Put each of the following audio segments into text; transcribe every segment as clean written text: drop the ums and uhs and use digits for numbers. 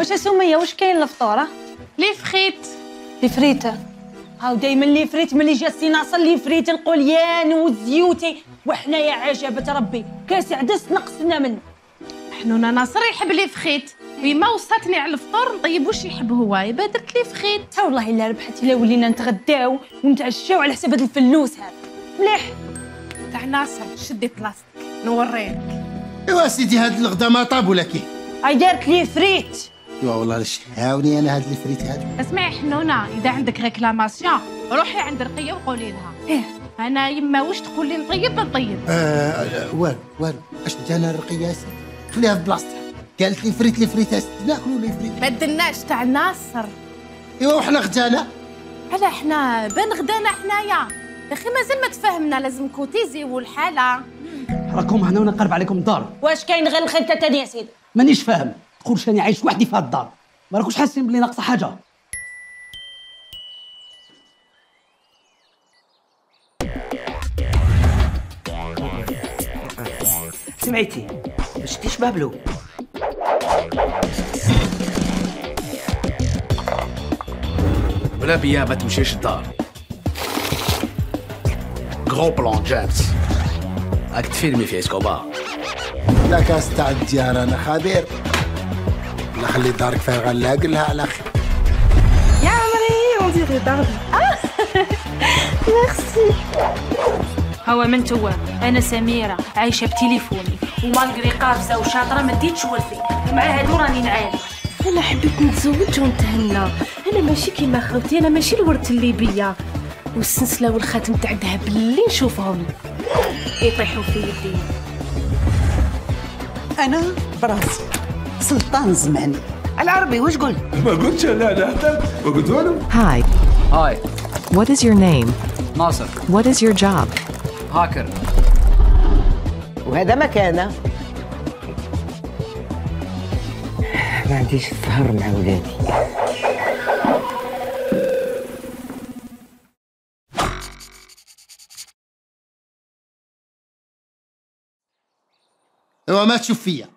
واش سميه واش كاين الفطوره؟ لي فريت. لي فريت هاو دايما لي فريت. ملي جا سي ناصر لي فريت القليان والزيوتي، وحنايا عجبة ربي كاس عدس نقصنا منه. حنونه ناصر يحب لي فريت، ويما وصاتني على الفطور نطيب واش يحب هو، يبا درت لي فريت. ها والله الا ربحت، الا ولينا نتغداو ونتعشاو على حساب هذا الفلوس هذا. مليح تاع ناصر شدي بلاصتك نوريك. ايوا سيدي هاد الغدا ما طاب ولا كيف؟ هاي دارت لي فريت. ايوا والله لاش عاوني انا هاد الفريت هادو. اسمعي حنونه، اذا عندك ريكلاماسيون روحي عند رقيه وقولي لها. ايه انا يما واش تقول لي نطيب نطيب. والو اش انت انا الرقيه يا سيدي خليها في بلاصتها. قالت لي فريت لي فريت ناكلوا لي فريت. ما درناش تاع ناصر. ايوا وحنا غدانا على حنا بان غدانا حنايا يا اخي، مازال ما تفاهمنا، لازم كوتيزي والحاله. راكم هنا ونقرب عليكم الدار. واش كاين غير الخلطه تاني يا سيدي؟ مانيش فاهم، تقول راني عايش وحدي في هاد الدار، ما راكوش حاسين بلي ناقصه حاجه؟ سمعتي ما شفتيش بابلو؟ بلا بيا ما تمشيش الدار. غرو بلان جيمس، راك تفيلمي في اسكوبار. لا كاس تاع الديار انا خبير. لا خلي دارك فارغه، لا قل لها على خير. يا عمري اون ديري داربي. ميرسي. هو من توا انا سميره عايشه بتليفوني، ومالغري قافزه وشاطره ما ديتش ولفي، مع هادو راني نعاني. انا حبيت نتزوج ونتهنى، انا ماشي كيما خوتي، انا ماشي الورث الليبيه والسلسله والخاتم تاع الذهب اللي نشوفهم يطيحوا في يدي. انا براسي سلطان الزماني. العربي واش قلت؟ ما قلتش انا ما قلت والو. Hi. هاي What is your name? ناصر. What is your job? هاكر. وهذا مكانه. ما عنديش السهر مع ولادي. ايوا ما تشوف فيا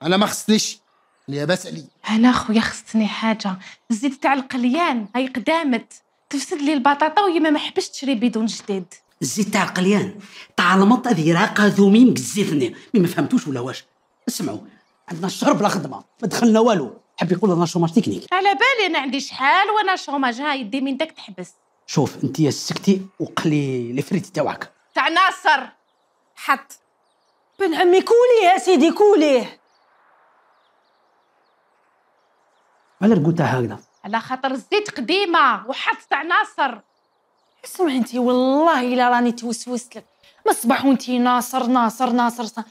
انا ما خصنيش اللي باس عليا. انا خويا خصني حاجه، الزيت تاع القليان هاي قدامت تفسد لي البطاطا، ويما ما حبش تشري بدون جديد. الزيت تاع القليان تاع المط هذه راقه ذوميم الزيتني، ما فهمتوش ولا واش؟ اسمعوا، عندنا الشهر بلا خدمه، ما دخلنا والو، حب يقول لنا شوماج تكنيك. على بالي انا عندي شحال وانا شوماج، ها يدي من داك تحبس. شوف انت يا سكتي وقلي لي فريت تاعك تاع ناصر حط. بن عمي كوليه يا سيدي كوليه. على قلتها هكذا على خاطر الزيت قديمه وحط تاع ناصر. اسمعي انت والله الا راني توسوست لك ما صباح وانتي ناصر ناصر ناصر.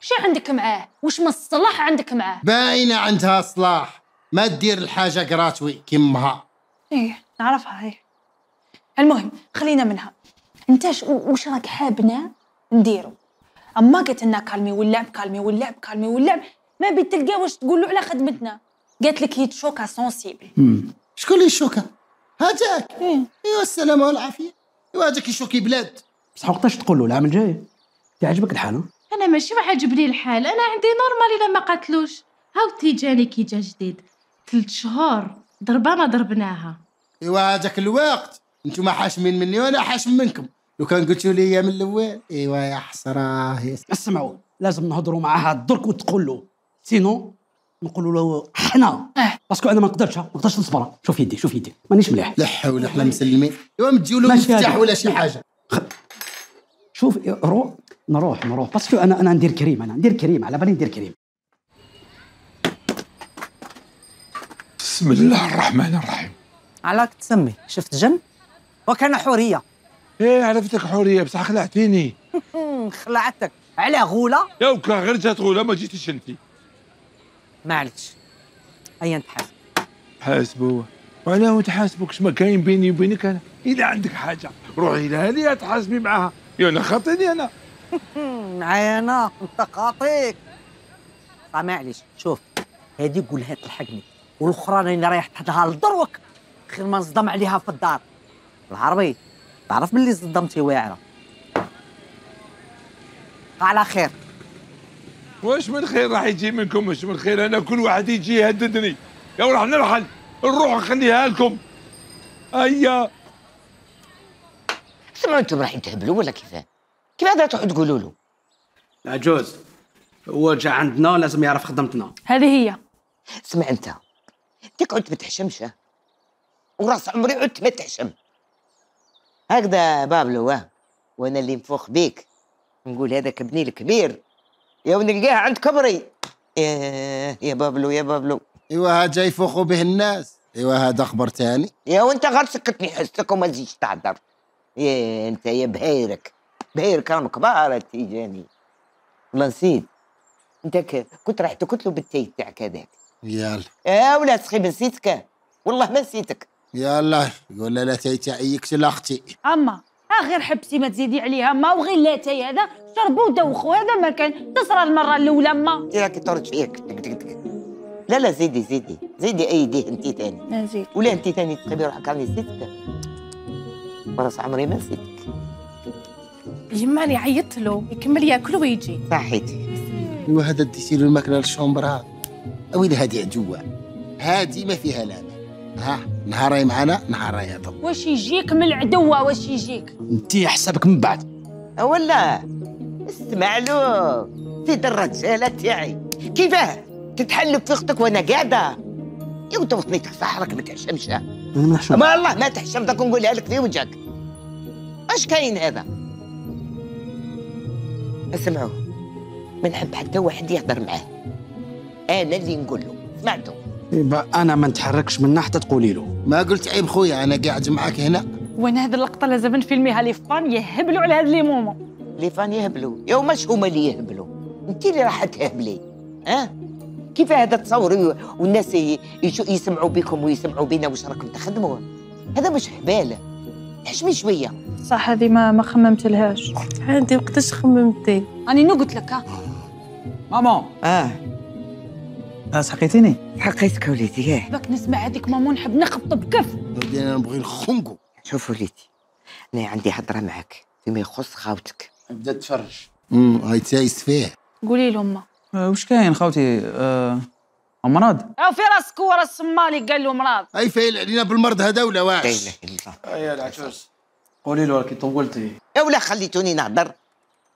شي عندك معاه؟ واش من الصلاح عندك معاه؟ باينه عندها صلاح، ما دير الحاجه كراتوي كيمها. ايه نعرفها هي. المهم خلينا منها. انت واش راك حابنا نديرو؟ اما قالت لنا كالمي واللعب كالمي واللعب كالمي واللعب، ما بيت تلقى واش تقول له على خدمتنا. قالت لك هي تشوكا سونسيبل. شكون اللي يشوكها؟ هذاك. ايوا السلامه والعافيه. ايوا هذاك يشوكي بلاد. بصح وقتاش تقول له العام الجاي؟ تعجبك الحال؟ انا ماشي عاجبني الحال، انا عندي نورمال الا ما قاتلوش. هاو تيجاني كي جا جديد 3 شهور ضربه ما ضربناها. ايوا هذاك الوقت نتوما حاشمين مني وانا حاشم منكم. لو كان قلتوا لي من الاول ايوا يا حسره. اسمعوا، لازم نهضروا معاه درك وتقول له، سينو نقولوا له حنا باسكو انا ما نقدرش نصبر. شوف يدي مانيش مليح. لا حول ولا قوه مسلمين. ايوا مديو له مفتاح ولا شي حاجه. شوف نروح باسكو انا ندير كريم على بالي ندير كريم. بسم الله الرحمن الرحيم. علاك تسمي شفت جن وكان حوريه. ايه عرفتك حوريه بصح خلعتيني. خلعتك على غوله يا وكا غير جات غوله ما جيتيش انت. معليش ايا نتحاسب. حاسبوا وانا متحاسبكش، ما كاين بيني وبينك. انا اذا عندك حاجه روحي لها ليا تحاسبي معاها. يا انا خاطيني انا. معايا انا انت خاطيك. معليش شوف هادي قولها تلحقني، والاخرى راني رايح تحطها لدروك خير ما نصدم عليها في الدار. العربي تعرف باللي صدمتي واعره. على خير. واش من خير راح يجي منكم؟ واش من خير؟ انا كل واحد يجي يهددني. يا راح نرحل نروح نخليها لكم. هيا سمعوا انتم رايحين تهبلوا ولا كيفاه؟ كيف هذا تروحوا تقولوا له؟ عجوز هو جا عندنا لازم يعرف خدمتنا. هذه هي. اسمع انت عدت ما تحشمش وراس عمري عدت ما تحشم هكذا بابلو. وانا اللي نفوخ بيك نقول هذاك ابني الكبير يا ونلقاه عند كبري. يا بابلو يا بابلو. ايوا ها جاي يفوخوا به الناس. ايوا هذا خبر تاني. يا وانت غير سكتني حسك وما تزيدش تعذر. يا انت يا بهيرك راهم كبار تيجاني. والله نسيت انت كنت راح تقتلوا بالتاي تاعك هذاك. يلا يا ولا سخي نسيتك والله ما نسيتك. يلا يقول لا تاي تاعي يقتل اختي. اما غير حبسي ما تزيدي عليها ما وغير لا تاي هذا شربوا ودوخوا هذا ما كان تصرى المره الاولى ما انت راكي ترد فيك تك. لا زيدي ايديه انت ثاني. نزيد ولا انت ثاني تخبي روحك راني نسيتك. راس عمري ما نسيتك. يما راني عيطت له يكمل ياكل ويجي. صحيتي. ايوا هذا ديتي له الماكله للشومبر ها. اويلي هادي عجوه هادي ما فيها لامه. ها نهاري معنا نهاري يضل. واش يجيك من العدوه واش يجيك؟ انت حسابك من بعد. ولا اسمع له سيد الرجاله تاعي كيفاه تتحلف في اختك وانا قاعده. يا وانت وطني تحصحرك ما تحشمش. انا ما نحشم. ما الله ما تحشم داك نقولها لك في وجهك. اش كاين هذا؟ اسمعوا ما نحب حتى واحد يهضر معاه. انا اللي نقول له سمعتوا. يبقى انا ما نتحركش منه حتى تقولي له. ما قلت عيب خويا انا قاعد معاك هنا. وانا هذه اللقطه لازم نفيلميها لي فان يهبلوا على هذا لي مومون. لي فان يهبلوا يا ماش هما اللي يهبلوا انت اللي راح تهبلي. كيف هذا تصوري والناس يسمعوا بكم ويسمعوا بينا واش راكم تخدموا؟ هذا مش حباله. حشمي شويه. صح هذه ما خممت لهاش. عندي وقتاش خممتي؟ راني قلت لك ماما سحقيتيني؟ حقيتك وليدي. باك نسمع هذيك ماما نحب نخبط بكف. ودي انا نبغي نخنقو. شوف وليدي انا عندي هضره معك فيما يخص خاوتك. بدات تفرج. هاي تايس فيه. قولي لهم واش كاين خوتي؟ امراض؟ او في راسك ورا الصمالي قال له مرض. اي فايل علينا بالمرض هذا ولا لا واش؟ اله الا الله. يا العجوز قولي له راكي طولتي. يا ولا خليتوني نهضر.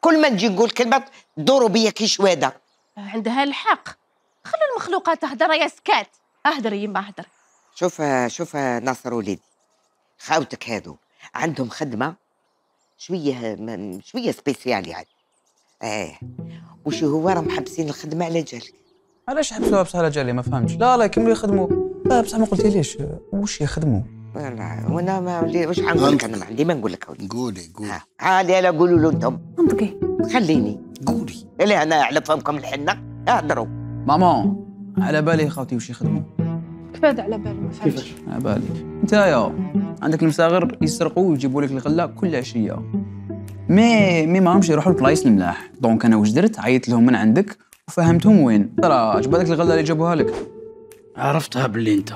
كل ما نجي نقول كلمه دوروا بيا كي شواده. عندها الحق. خلوا المخلوقات تهدر يا سكات. اهدري يما اهدري. شوف ناصر وليدي خاوتك هادو عندهم خدمه شويه سبيسيال يعني. وش هو راهم محبسين الخدمه على جالك. علاش حبسوها بصح على جالي ما فهمتش. لا يكملوا يخدموا. لا بصح ما قلتيليش واش يخدموا. وانا ما واش حنقول لك انا ما عندي ما نقول لك. قولي عالي لا قولوا له انتم. منطقي. خليني قولي. لا انا على فمكم الحنه اهضروا. ماما على بالي خوتي واش يخدموا. كيف هذا على بالي ما فهمتش. على بالي نتايا عندك المساغر يسرقوا ويجيبوا لك الغله كل عشيه. مي ماهمش يروحوا لبلايص الملاح. دونك انا واش درت؟ عيطت لهم من عندك وفهمتهم وين. ترى عجبتك الغله اللي جابوها لك؟ عرفتها باللي انت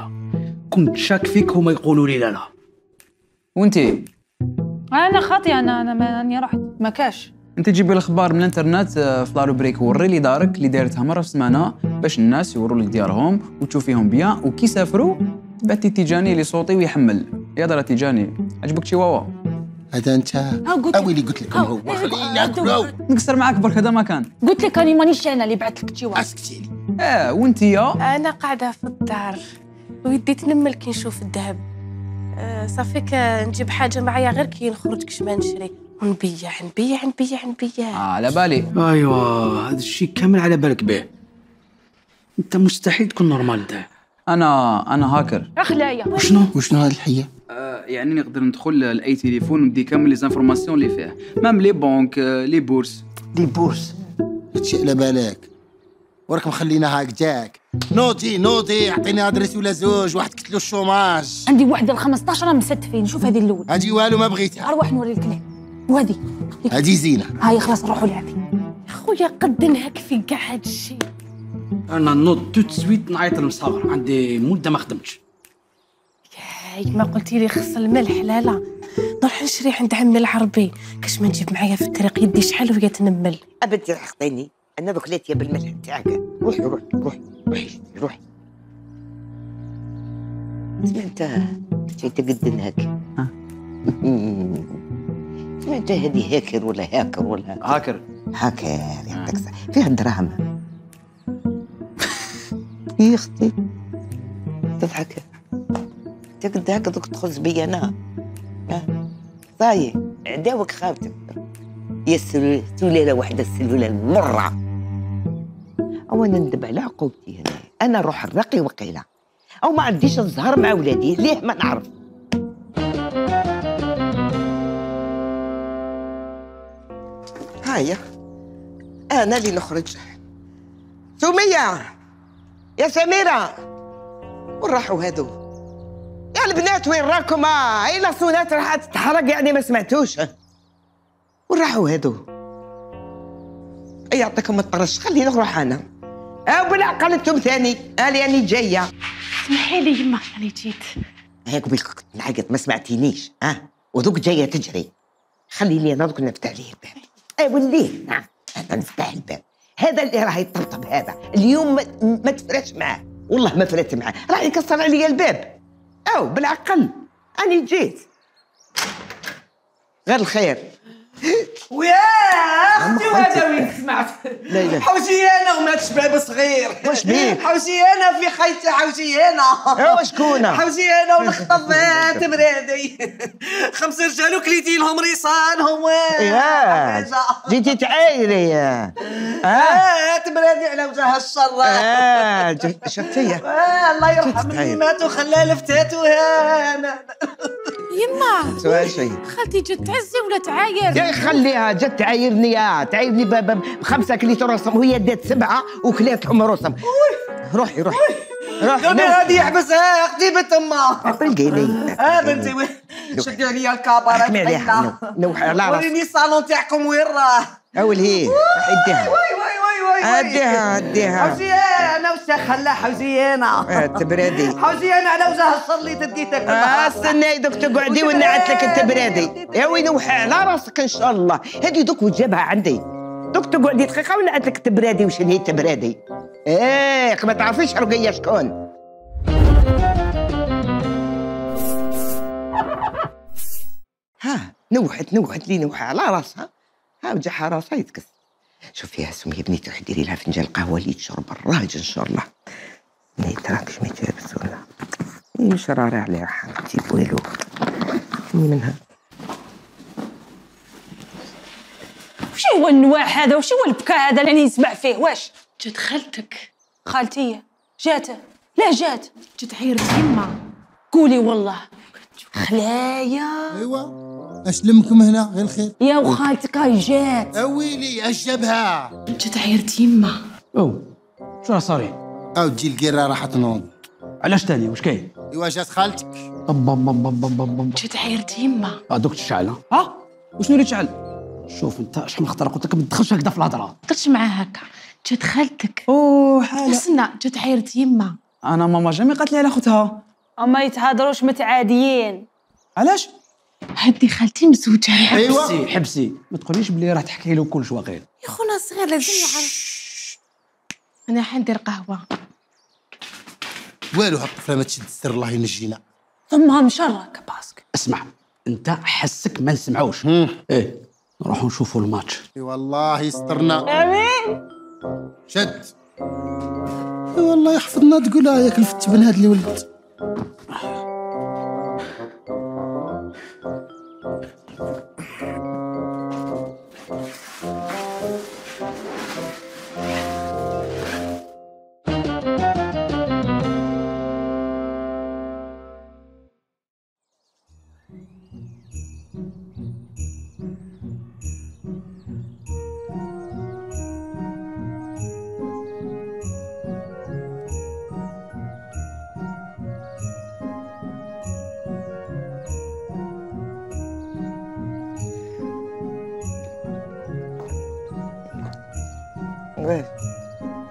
كنت شاك فيك هما يقولوا لي لا. وانتي؟ انا خاطي انا راني رحت ما كاش. انت تجيبي الاخبار من الانترنت في لا روبريك وري لي دارك اللي دايرتها مره في السمانه باش الناس يوروا لك ديارهم وتشوفيهم بيان وكي سافروا تبعتي تيجاني اللي صوتي ويحمل. يا دار تيجاني عجبك شيواوا؟ هذا انت اويلي قلت لكم هو خليني ناكلو. نقصر معاك برك هذا ما كان. قلت لك راني مانيش انا اللي بعثت لك تشيوا. اسكتي لي. وانتي يا؟ انا قاعده في الدار ويدي تنمل كي نشوف الذهب. صافيك نجيب حاجه معايا غير كي نخرج كش ما نشري ونبيع. على بالي. ايوا هذا الشيء كامل على بالك به. انت مستحيل تكون نورمال انت. انا هاكر. اخلايا وشنو هذه الحيه؟ يعني نقدر ندخل لاي تليفون وندي كامل لي زانفورماسيون اللي فيه مام لي بنك لي بورس. هادشي على بالك وراك مخلينا هاك جاك. نوضي اعطيني ادريس ولا زوج واحد قتلو الشوماج. عندي وحده ال15 مستفين. شوف هذه الاول. هادي والو ما بغيتها. اروح نوري الكلام. وهذه هادي زينه. هاي خلاص نروحوا لعبي. خويا قد نهك في كاع هادشي. انا نوض تو تسويت نعيط للمصاغر عندي مده ما خدمتش. ياي ما قلتي لي خص الملح. لا نروح نشري عند عمي العربي كاش ما نجيب معايا في الطريق يدي شحال وهي تنمل. ابدي راح خطيني انا دوك ليتيا بالملح تاعك. روحي سمعت شي تقدن هكا. سمعت هذه هاكر ولا هاكر ولا هاكر يعطيك فيها دراهم. يا اختي تضحك تقد هكا دوك تخز بيا انا. طاي عداوك خافتك يا سلالة واحدة السلولة المرة. أو أنا ندب على عقوبتي هنا، أنا روح الرقي وقيلة، أو ما عنديش الزهر مع ولادي ليه ما نعرف. هايا أنا اللي نخرج. سمية يا سميرة وين راحوا هادو؟ يا البنات وين راكم؟ هاي لاصونات راح تتحرق يعني ما سمعتوش. وين راحوا هادو؟ يعطيكم الطرش خليني نروح انا. بالعقل انتم ثاني لاني جايه. اسمحي لي يما انا جيت. هيك بك كنت نعيط ما سمعتينيش وذوك جايه تجري. خلي لي انا دوك نفتح ليه الباب. وليه نعم انا نفتح الباب. هذا اللي راه يطبطب هذا اليوم ما تفرش معاه والله ما فرت معاه راه يكسر عليا الباب. بالعقل اني جيت غير الخير. ويا اختي وهذا وين سمعت؟ حوشي انا ومات شباب صغير. واش بيك؟ حوشي انا في خيتي حوشي انا. وشكون؟ حوشي انا ونخطب تمرادي 5 رجال وكليتي لهم ريصانهم. جيتي تعايري. تمرادي على وجه الشر. شفتي؟ الله يرحم اللي مات وخلى لفتات وهانا. يما سؤال شيء خالتي جات تعزي ولا تعاير؟ يا خليها جات تعايرني تعايرني ب5 كليتو رسم وهي دات 7 وكلات لهم رسم. روحي قلبي غادي يحبسها اختي بنت امها. طلقي لي بنتي وين شدي عليا الكابارات. حكمي عليها نوحي على راسك. وريني الصالون تاعكم وين راه. هي راح يديها. اديها حوزي انا وش خلى حوزي انا. التبرادي حوزي انا على وجه الشر اللي تديتك. استني دوك تقعدي ونعت لك التبرادي. يا وين نوحي على راسك ان شاء الله. هذه دوك وجابها عندي. دوك تقعدي دقيقه ونعت لك التبرادي. وش هي التبرادي؟ ما تعرفيش رقيه شكون. نوحت لي نوحي على راسها. وجهها راسها يتكس. شوفي يا سمية بنيتي روحي ديري لها فنجان قهوه اللي تشرب الراجل ان شاء الله. تراكش ما تلبس ولا مش راري عليها حبيبتي بويلو منها. وش هو النواح هذا؟ وش هو البكاء هذا اللي نسمع فيه؟ واش جات خالتك؟ خالتي جات؟ لا جات عيرت يما. قولي والله خلايا. ايوا اش لمكم هنا غير الخير. يا وخالتك هاي جات. ويلي اش جابها؟ جات عيرت يما. شو راه صاري؟ تجي القيره راح تنوض. علاش تاني واش كاين؟ ايوا جات خالتك. جات عيرت يما. دوك تشعل وشنو اللي تشعل؟ شوف انت شحال من خطره قلت لك ما تدخلش هكذا في الهضره. درتش معاه هكا. جات خالتك. حاله. استنى جات عيرت يما. انا ماما جامي قالت لي على خوتها. اما يتهضروش متعاديين. علاش؟ هدي خالتي مزوجه. حبسي ما تقوليش بلي راه تحكي له كلش واقيلا. يا خونا صغير لازم يعرف. انا حندير قهوه. والو هالطفله ما تشد السر الله ينجينا. ثمها مشرك باسك. اسمع انت حسك ما نسمعوش. نروحوا نشوفوا الماتش. والله يسترنا. امين. شد. والله يحفظنا تقولها ياك الفت بن هاد اللي ولد.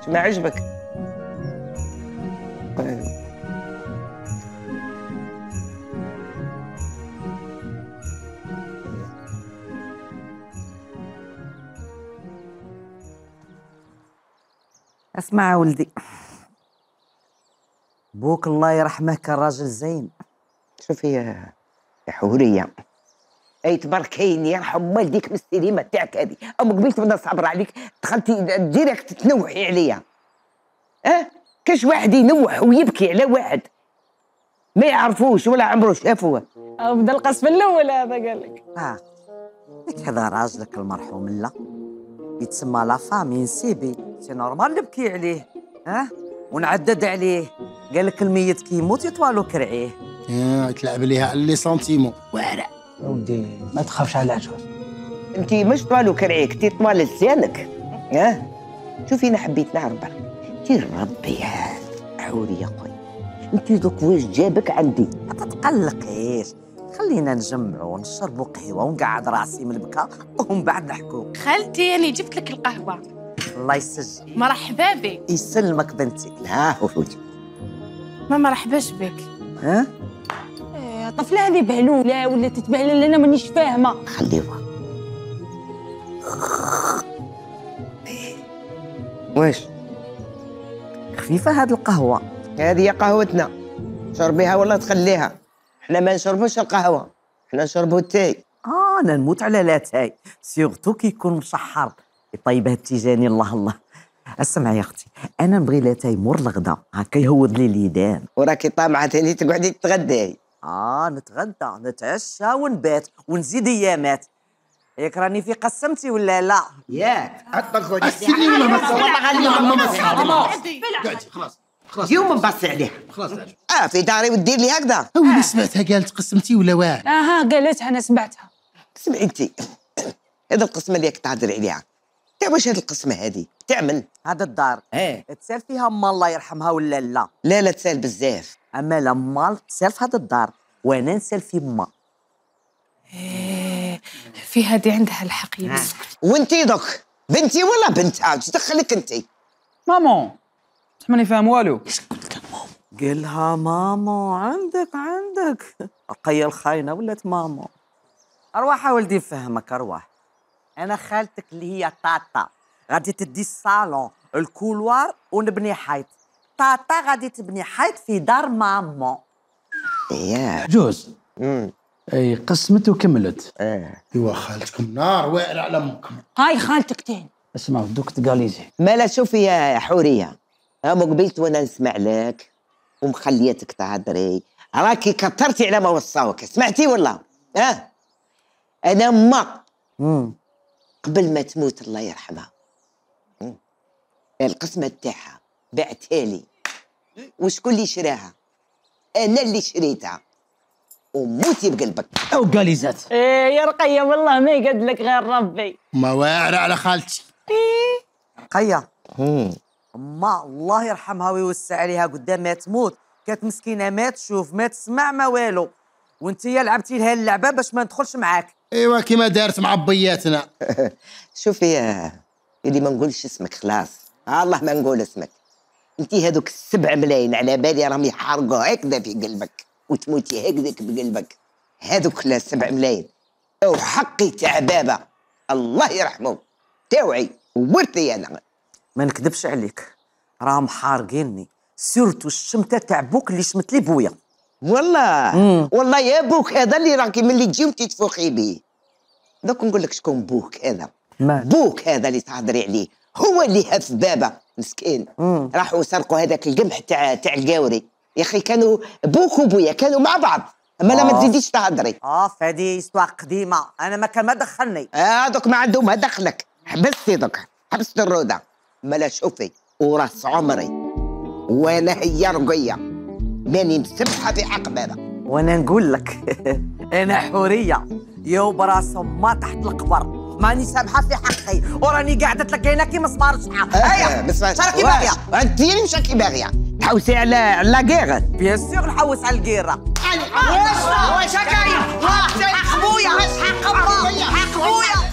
شو ما عجبك؟ اسمع ولدي، بوك الله يرحمه كان راجل زين. شوفي يا حوريه، اي تباركين يرحم والديك من السينما تاعك هذه، اما قبيلت بدنا نصبر عليك دخلتي ديريكت تنوحي عليا. كاش واحد ينوح ويبكي على واحد ما يعرفوش ولا عمره شافوه. بدا القصف الاول هذا قال لك. لك هذا راجلك المرحوم لا يتسمى لا فامي نسيبي، سي نورمال نبكي عليه ونعدد عليه. قال لك الميت كي يموت يطوالو كرعيه. تلعب ليها على لي سنتيمون واعره. ودي ما تخافش على عجوز. انت مش طوالو كرعيك، انت طوال لسانك. شوفي انا حبيت نعرف برك انت ربي يا حوريه خويا، انت دوك واش جابك عندي؟ ما تتقلقيش، خلينا نجمعوا ونشربوا قهوه ونقعد راسي من البكا ومن بعد نحكوا. خالتي أنا جبت لك القهوة. الله يسجل. مرحبا بك. يسلمك بنتي. لا وفوتي. ما مرحباش بك. طفله هذه بهلوله ولا تتبهلل؟ انا مانيش فاهمه. خليوها. واش خفيفه هاد القهوه؟ هذه قهوتنا، شربيها ولا تخليها. احنا ما نشربوش القهوه، احنا نشربوا التاي. انا نموت على لاتاي، سيغتو كي يكون مشحر يطيبها التيجاني. الله الله. اسمعي يا اختي، انا نبغي لاتاي مور الغدا هكا يهوض لي اليدان. وراكي طامعه ثاني تقعدي تتغداي. نتغدى نتعشى ونبات ونزيد ايامات. ياك راني في قسمتي ولا لا؟ ياك اطلقوا السيني ولا ما والله غادي خلاص يوم نبصي عليها. خلاص في داري ودير لي هكذا. اللي سمعتها قالت قسمتي ولا واعر؟ قالتها انا سمعتها. اسمعي انت، هذا القسمه اللي راك تهضري عليها تاع واش هذه القسمه هذه تعمل؟ هذا الدار تسال فيها ما الله يرحمها ولا لا؟ لا تسال بزاف. اما لما تسال في هذا الدار وانا نسال في ما. في هذه عندها الحق يا مسكت. وانتي دوك بنتي ولا بنتها؟ اش دخلك انتي؟ مامون ماني فاهم والو. قالها مامو. عندك رقية الخاينة ولات مامو. أرواح ولدي فهمك أرواح. أنا خالتك اللي هي طاطا غادي تدي الصالون الكولوار ونبني حيط. طاطا غادي تبني حيط في دار مامو. جوز اي قسمت وكملت. ايوا خالتكم نار واعر على امكم. هاي خالتك تين. اسمعوا دوك تقاليزي. مالا شوفي يا حوريه، مو قبيلت وانا نسمع لك ومخليتك تهضري، راكي كثرتي على ما وصاوك. سمعتي ولا؟ انا ما قبل ما تموت الله يرحمها القسمه تاعها بعتها لي. وشكون اللي شراها؟ انا اللي شريتها وموتي بقلبك. او قاليزات. يا رقيه والله ما يقد لك غير ربي. ما واعر على خالتي. رقيه ما الله يرحمها ويوسع عليها قدام ما تموت كانت مسكينه ما تشوف ما تسمع ما والو، وانت لعبتي لها اللعبه باش ما ندخلش معاك. ايوا كيما دارت مع بياتنا. شوفي اللي ما نقولش اسمك خلاص، الله ما نقول اسمك. انت هذوك 7 ملايين على بالي راهم يحرقوا هكذا في قلبك وتموتي هكذاك بقلبك. هذوك لا 7 ملايين وحقي تاع بابا الله يرحمه تاوعي وورثي انا. ما نكذبش عليك راهم حارقيني، سيرتو الشمته تاع بوك اللي شمت لي بويا. والله يا بوك هذا اللي راكي ملي تجي وتتفوخي به. دوك نقول لك شكون بوك هذا. بوك هذا اللي تهضري عليه هو اللي هف بابا مسكين. راحوا سرقوا هذاك القمح تاع القاوري. يا اخي كانوا بوك وبويا كانوا مع بعض. اما لا ما تزيديش تهضري. فهذه استوى قديمه، انا ما كان ما دخلني. دوك ما عندهم ما دخلك. حبستي دوك حبست الروده. مالا شوفي وراس عمري وانا هي رقيه ماني مسبحه في حق بابا. وانا نقول لك انا حوريه يو براس ما تحت القبر ماني سامحه في حقي وراني قاعده تلقينا كي مسمار شحال. شراكي باغيه؟ انت اللي مش راكي باغيه تحوسي على لاكيغ. بيان سور نحوس على الكيره. واش هكايا؟ حق بويا حق بويا.